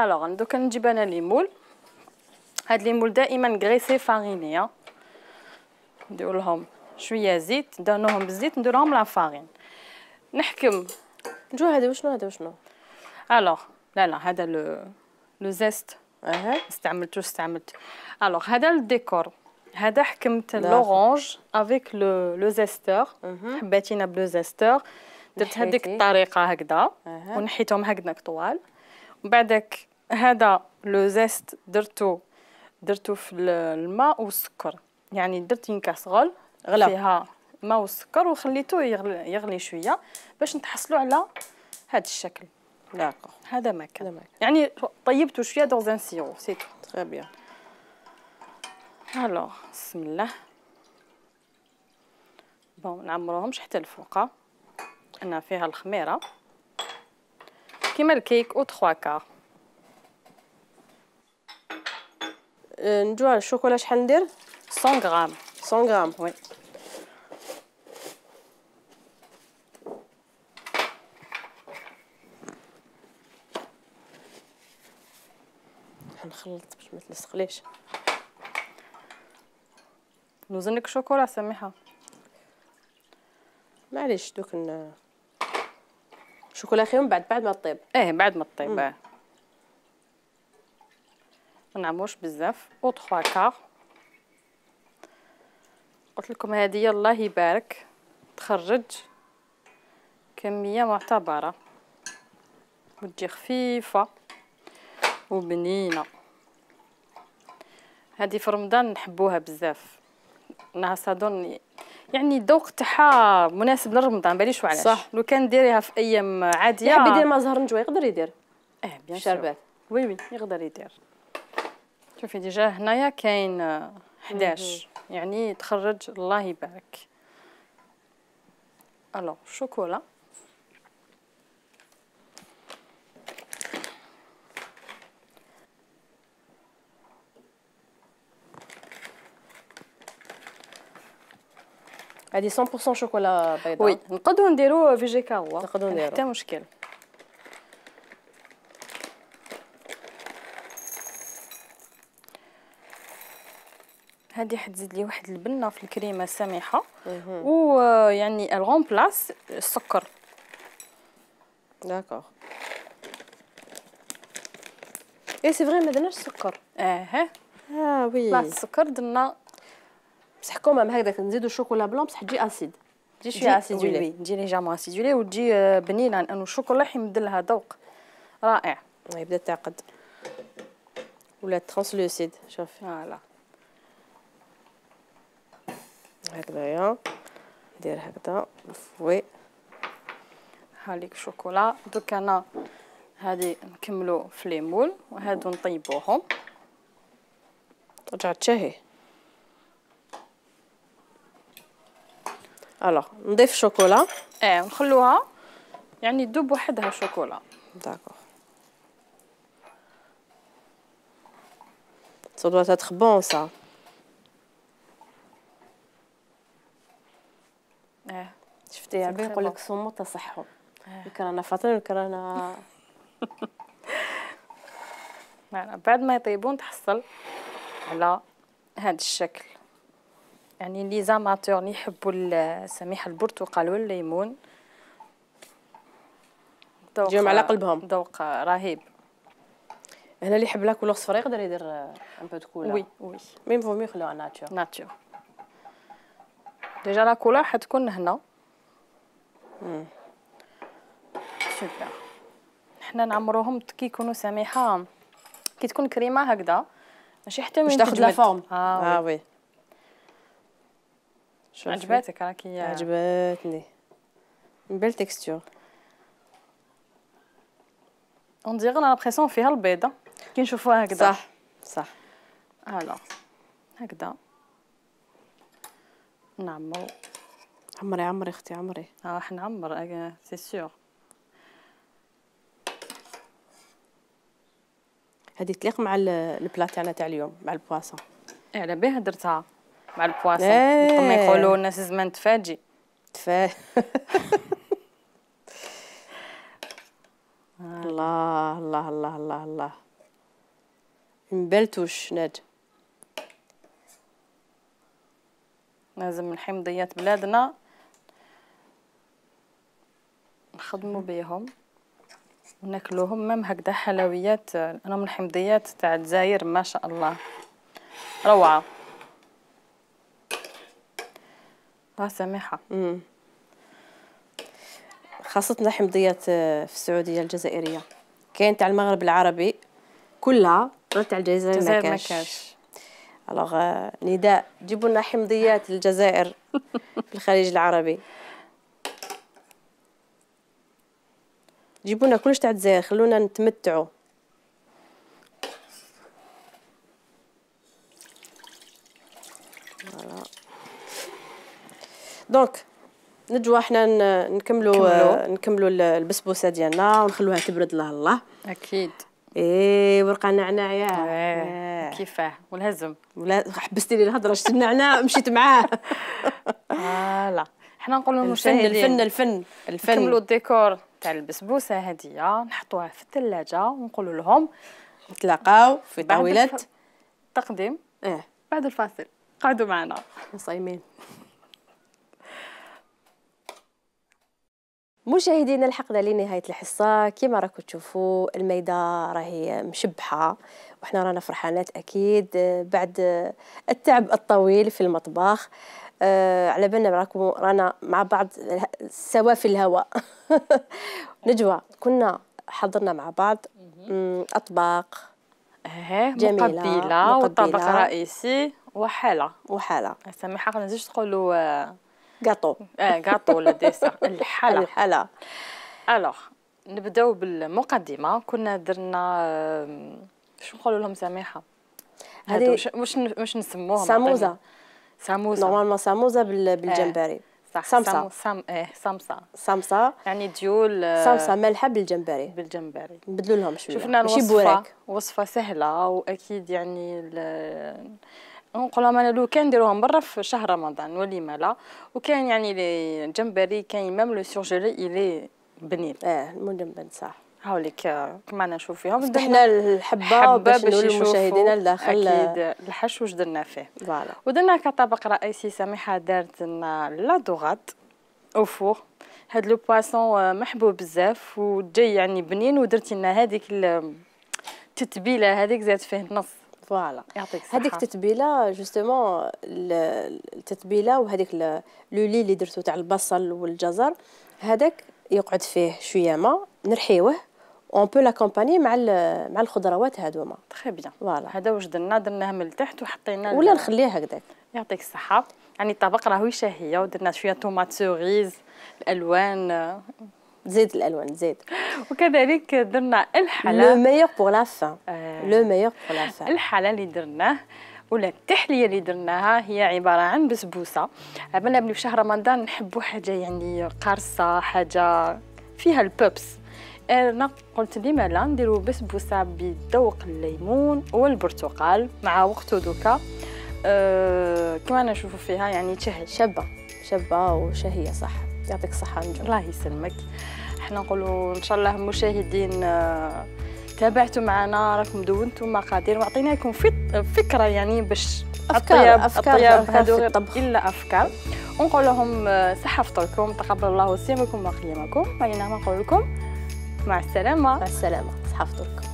[SPEAKER 2] الوغ دوكا نجيب انا لي مول هاد لي مول دائما غريسي فاريني. ندير لهم شويه زيت، ندهنوهم بالزيت، ندير لهم لا فارين. نحكم
[SPEAKER 1] جو هذا وشنو
[SPEAKER 2] الوغ. لا هذا لو زيست. استعملت. الوغ هذا الديكور. هذا حكمت لورانج افيك لو زيستور. حباتينا بلو زيستور. درت هذيك الطريقه هكذا ونحيتهم هكذا طوال. ومن بعدك هذا لو زيست درتو في الماء والسكر، يعني درت كاسرول فيها ماء والسكر وخليته يغلي شويه باش نتحصلوا على هذا الشكل.
[SPEAKER 1] داكوغ.
[SPEAKER 2] هذا ما كان، يعني طيبته شويه دون ان سيرو سي تو.
[SPEAKER 1] تري بيان.
[SPEAKER 2] الوغ بسم الله. بون نعمروهمش حتى الفوقه. انا فيها الخميره كيما الكيك او 3 كار.
[SPEAKER 1] نديرو على الشوكولا شحال ندير؟
[SPEAKER 2] 100 غرام.
[SPEAKER 1] 100 غرام
[SPEAKER 2] وي.
[SPEAKER 1] نخلط باش ما تلصقليش.
[SPEAKER 2] نوزنلك شوكولا سميحه.
[SPEAKER 1] معليش دوك شوكولا خيون بعد ما طيب.
[SPEAKER 2] بعد ما طيب. ما نعمروش بزاف او 3 كار. قلت لكم هذه الله يبارك تخرج كميه معتبره وتجي خفيفه وبنينه. هذه في رمضان نحبوها بزاف، انها صادون يعني الذوق تاعها مناسب لرمضان. باليش علاش.
[SPEAKER 1] صح.
[SPEAKER 2] لو كان ديريها في ايام عاديه
[SPEAKER 1] يحب يدير ما زهر نجوى يقدر يدير.
[SPEAKER 2] بيان
[SPEAKER 1] شربات.
[SPEAKER 2] وي يقدر يدير. شوفي ديجا هنايا كاين 11 يعني تخرج الله يبارك. الو شوكولا.
[SPEAKER 1] هذه 100% شوكولا بيضاء.
[SPEAKER 2] وي نقدروا نديروا فيجي كاوا،
[SPEAKER 1] نقدروا نديروا
[SPEAKER 2] حتى مشكل. هذه حتزيد لي واحد البنه في الكريمه سميحه ويعني الغومبلاس السكر.
[SPEAKER 1] داكوغ. سي فري ما درناش السكر. وي.
[SPEAKER 2] لا السكر درنا
[SPEAKER 1] بصح كومام هكذاك نزيدو الشوكولا بلون بصح تجي اسيد. تجي شويه اسيدولي.
[SPEAKER 2] وي تجي ليجامون اسيدولي وتجي بنينه لانه الشوكولا يمد لها ذوق رائع.
[SPEAKER 1] يبدا تعقد ولا ترانسلوسيد. شوفي
[SPEAKER 2] فوالا
[SPEAKER 1] هكذايا ندير هكذا وي.
[SPEAKER 2] هاليك شوكولا. دوك انا هذه نكملو في لي مول وهادو نطيبوهم.
[SPEAKER 1] رجعت تشهي. الوغ نضيف شوكولا.
[SPEAKER 2] نخلوها يعني تذوب وحدها شوكولا.
[SPEAKER 1] داكوغ. Ça doit être bon ça. شفتي عبي يقول لك صوموا تصحوا. الكرانا فاطرين الكرانا.
[SPEAKER 2] بعد ما يطيبون تحصل على هذا الشكل. يعني لي زاماتور اللي يحبوا السميح البرتقال والليمون
[SPEAKER 1] يجيهم على قلبهم.
[SPEAKER 2] ذوق رهيب.
[SPEAKER 1] هنا اللي يحب لا كولور صفرا يقدر يدير ان بو دو كولور.
[SPEAKER 2] وي
[SPEAKER 1] ميم فو مي يخلوها ناتور.
[SPEAKER 2] ديجا لا كولور حتكون هنا. سوبر. حنا نعمروهم كي يكونوا سميحه كي تكون كريمه هكذا ماشي حتى من
[SPEAKER 1] تاخذ لا فورم. وي.
[SPEAKER 2] عجباتك راكي؟
[SPEAKER 1] عجبتني. بيل تكستور.
[SPEAKER 2] اون ديغ انا لابريسيون فيها البيضه كي نشوفوها هكذا.
[SPEAKER 1] صح.
[SPEAKER 2] الو هكذا نعمرو.
[SPEAKER 1] عمري اختي عمري.
[SPEAKER 2] حنعمر سي سيغ.
[SPEAKER 1] هذه تليق مع البلا تاعنا تاع اليوم مع البواسون.
[SPEAKER 2] على بها درتها مع البواسون. كما يقولوا الناس زمان تفاجئ. الله
[SPEAKER 1] الله الله الله الله. une belle touche ناد.
[SPEAKER 2] لازم الحمضيات بلادنا نخدموا بيهم وناكلوهم. مام هكذا حلويات، انا من الحمضيات تاع الجزائر ما شاء الله روعه. سميحه.
[SPEAKER 1] خاصة حمضيات في السعودية الجزائرية، كاين تاع المغرب العربي كلها، تاع الجزائر ما كاش. الوغ نداء جيبوا لنا حمضيات الجزائر في الخليج العربي، جيبوا لنا كلش تاع الجزائر، خلونا نتمتعوا. دونك نجوا احنا نكملوا البسبوسه ديالنا ونخلوها تبرد له الله.
[SPEAKER 2] اكيد.
[SPEAKER 1] ورقه النعناع يا
[SPEAKER 2] كيفاه والهزم.
[SPEAKER 1] ولا حبستي لي الهضره، شفت النعناع مشيت معاه.
[SPEAKER 2] لا احنا نقولوا المشاهدين
[SPEAKER 1] الفن
[SPEAKER 2] نكملوا الديكور تاع البسبوسه هذه، نحطوها في الثلاجه ونقولوا لهم
[SPEAKER 1] نتلاقاو في طاوله
[SPEAKER 2] التقديم بعد الفاصل. قعدوا معنا
[SPEAKER 1] صايمين. مشاهدينا الحقنا لنهاية الحصة. كما راكم تشوفوا الميدة راهي مشبحة وحنا رانا فرحانات أكيد بعد التعب الطويل في المطبخ. على بالنا رانا مع بعض سوا في الهواء. نجوى كنا حضرنا مع بعض أطباق
[SPEAKER 2] جميلة مقبلة وطبق رئيسي وحالة سميحة. ما نزيدش تقولوا
[SPEAKER 1] غاطو
[SPEAKER 2] غاطو ولا ديسر.
[SPEAKER 1] الحلا.
[SPEAKER 2] الوغ نبداو بالمقدمه. كنا درنا شو نقولوا لهم سميحه، هادو واش نسموهم؟ ساموزه
[SPEAKER 1] نورمالمون ساموزه بالجمبري. صمصه
[SPEAKER 2] يعني ديول
[SPEAKER 1] صمصه مالحه بالجمبري نبدلوا لهم شويه.
[SPEAKER 2] شفنا وصفه سهله واكيد يعني نقولوا انا لو كان نديروهم برا في شهر رمضان ولما لا. وكان يعني الجمبري كاين ميم لو سورجيلي الي بنين
[SPEAKER 1] مجمد صح.
[SPEAKER 2] هاوليك كما نشوف فيهم
[SPEAKER 1] فتحنا الحبه باش نقول للمشاهدين الداخل
[SPEAKER 2] اكيد الحشو واش درنا فيه. ودرنا كطبق رئيسي سميحه دارت لنا لا دوغات او فور. هاد لو بواسون محبوب بزاف وجاي يعني بنين، ودرتي لنا هذيك التتبيله هذيك زاد فيه نص.
[SPEAKER 1] فوالا هذيك التتبيله جوستومون التتبيله وهذيك لو لي اللي درتو تاع البصل والجزر هذاك يقعد فيه شويه ما نرحيوه اون بو لاكومباني مع الخضروات هذوما.
[SPEAKER 2] تري بيان. فوالا هذا واش درناه من التحت وحطينا
[SPEAKER 1] ولا نخليه هكذاك.
[SPEAKER 2] يعطيك الصحه. يعني الطبق راهو شهيه ودرنا شويه طوماط سوريز الالوان
[SPEAKER 1] زيد الالوان زيد.
[SPEAKER 2] وكذلك درنا الحلا
[SPEAKER 1] لو ميور بور لا فان. لو ميور بور لا فان.
[SPEAKER 2] الحلا اللي درناه ولا التحليه اللي درناها هي عباره عن بسبوسه. عملنا بلي في شهر رمضان نحبوا حاجه يعني قارصه، حاجه فيها البوبس. انا قلت لما لا نديروا بسبوسه بذوق الليمون والبرتقال مع وقته دوكا. كما نشوفوا فيها يعني تشهي
[SPEAKER 1] شابه وشهيه صح. يعطيك الصحه نجم.
[SPEAKER 2] الله يسلمك. احنا نقولوا ان شاء الله مشاهدين تابعتوا معنا، راكم دونتوا مقادير وعطيناكم فكره يعني باش
[SPEAKER 1] افكار
[SPEAKER 2] هذو الا افكار. ونقول لهم صحه فطوركم، تقبل الله صيامكم وقيامكم. بينما نقول لكم مع السلامه.
[SPEAKER 1] صحه فطوركم.